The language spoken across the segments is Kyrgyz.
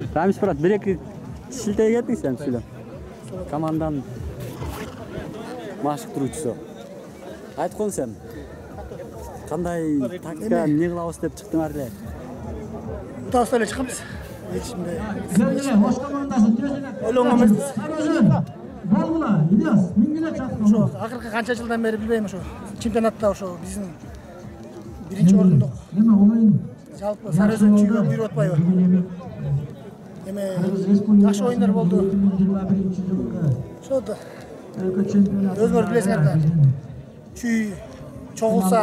Рамис брат, bir-iki шилтей кеттиң сен сүйлө. Команданын машыктыруучусу. Айткон сен. Кандай тактика эмне кылабыз деп чыктыңар эле? Утабыз эле чыкканбыз. Эчимде. Ойлонгон эмеспиз. Болгула, Ильяс, миңгиле чакырып. Ошо акыркы канча жылдан бери билбейм, ошо чемпионатта ошо биздин биринчи орундук. Эме оюн. Жалпы Сары Өзөн чүйгө буйруп атпайбы? Эме жакшы оюндар болду. 21-жылкы Ошо да өлкө чемпионаты. өзгөр билесиңер да. Чүй чогулса,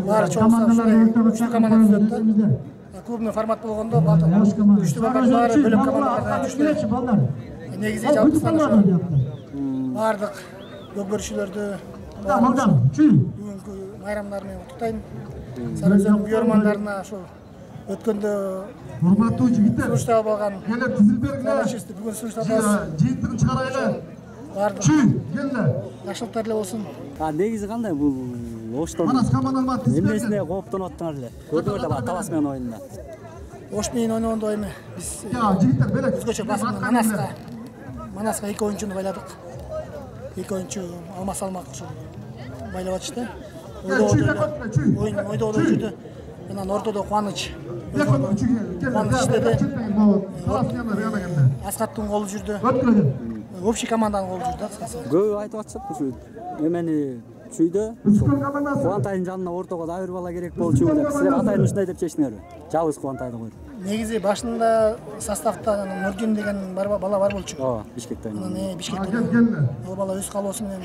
баары чогулса, үчтүү команда түзөт да. Клубный формат болгондо үчтүү балдар баары бөлөк командалардан түштү. Негизи жалпысынан ошо баардык көкбөрүчүлөрдү бүгүнкү майрамдар менен куттуктайм. Сары Өзөн күйөрмандарына ошо өткөндө урматтуу жигиттер, сунуштап алган келип тизилбергиле. бүгүн сунуштабыз. Жыйынтыгын чыгарайлы. Баардык Келди. жакшылыктар эле болсун. Негизи кандай бул Оштон? Манас командалар тизилберди. Эмнесине кооптонуп аттыңар эле? Көрдүңөр да Талас менен ойнунда. Ош менен ойногондо эми биз Жигиттер белек. өзгөчө басымды Манаска 2 оюнчуну байладык. 2 оюнчу алма салмак ошо байлап атышты. Ойдогоду жүрдү. Анан ортодо Кубаныч. Кубаныч иштеди. Аскаттын голу жүрдү. Общий команданын голу жүрдү кыскасы. Көбү айтып атышат ушу эмени чүйдө Кубантайдын жанына ортого да бир бала керек болчу деп. Силер атайын ушундай деп чечтиңерби? Жабыс Кубантайды коюп. Негизи башында составда Нурдин деген бала бар болчу. Ооба, Бишкекте. Анан Бишкекте ал бала өз каалоосу менен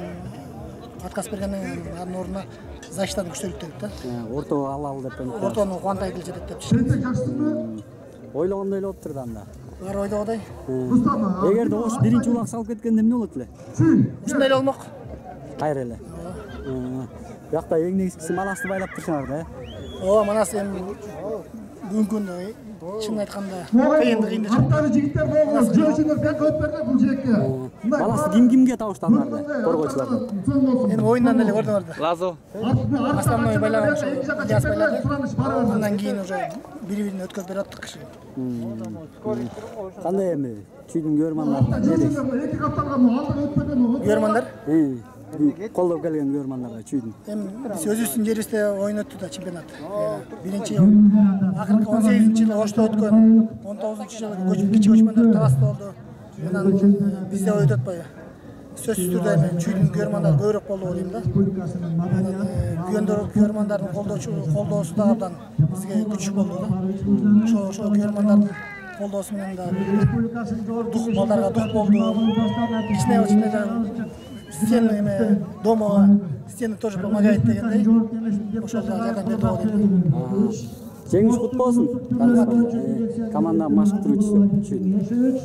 отказ бергенден кийин анын ордуна защитаны күчтөлүп деп да. Орто алалы деп. Ортону Кубантайды жетет деп чечти. Ойлогондой эле болуптур да анда. Баары ойдогодай. Эгерде Ош биринчи улак салып кеткенде эмне болот эле? Ушундай эле болмок. Кайра эле. Биякта эң негизгиси Манасты байлап турсаңар да. Ооба, Манас эми бүгүнкү күндө чын айтканда кыйын да Аттары жигиттер болгон жөөчүлөр бек өтүп берди бул жекке. Манасты кимге табыштадыңар да? Коргоочулардан. Эми оюндан эле көрдүңөр да. Лазо. Основной байлаган ошо Ильяс байлады. Андан кийин уже бири-бирин өткөзүп берип аттык киши. Кандай эми чүйдүн күйөрмандарына не дейсиз? Эки капталган алдыга өтүп берген. Күйөрмандар Колдоп келген күйөрмандарга чүйдүн. эми биз өзүбүздүн жерибизде оюн өттү да чемпионат. Биринчи акыркы 18-жылы Ошто өткөн, 19-жылы кичи көчмөндөр Таласта болду. Анан бизде оюн өтпөйбү. Сөзсүз түрдө эми чүйдүн күйөрмандары көбүрөөк болду деп ойлойм да. Күйөрмандардын колдоосу да абдан бизге күчү болду да. Ошо күйөрмандардын колдоосу менен да дух балдарга дух болду. Кичине стены эме дома стены тоже помогает дегендей. Ошол да жардам берди го дейм. Жеңиш кут болсун. Команда машыктыруучусу чүйдүн.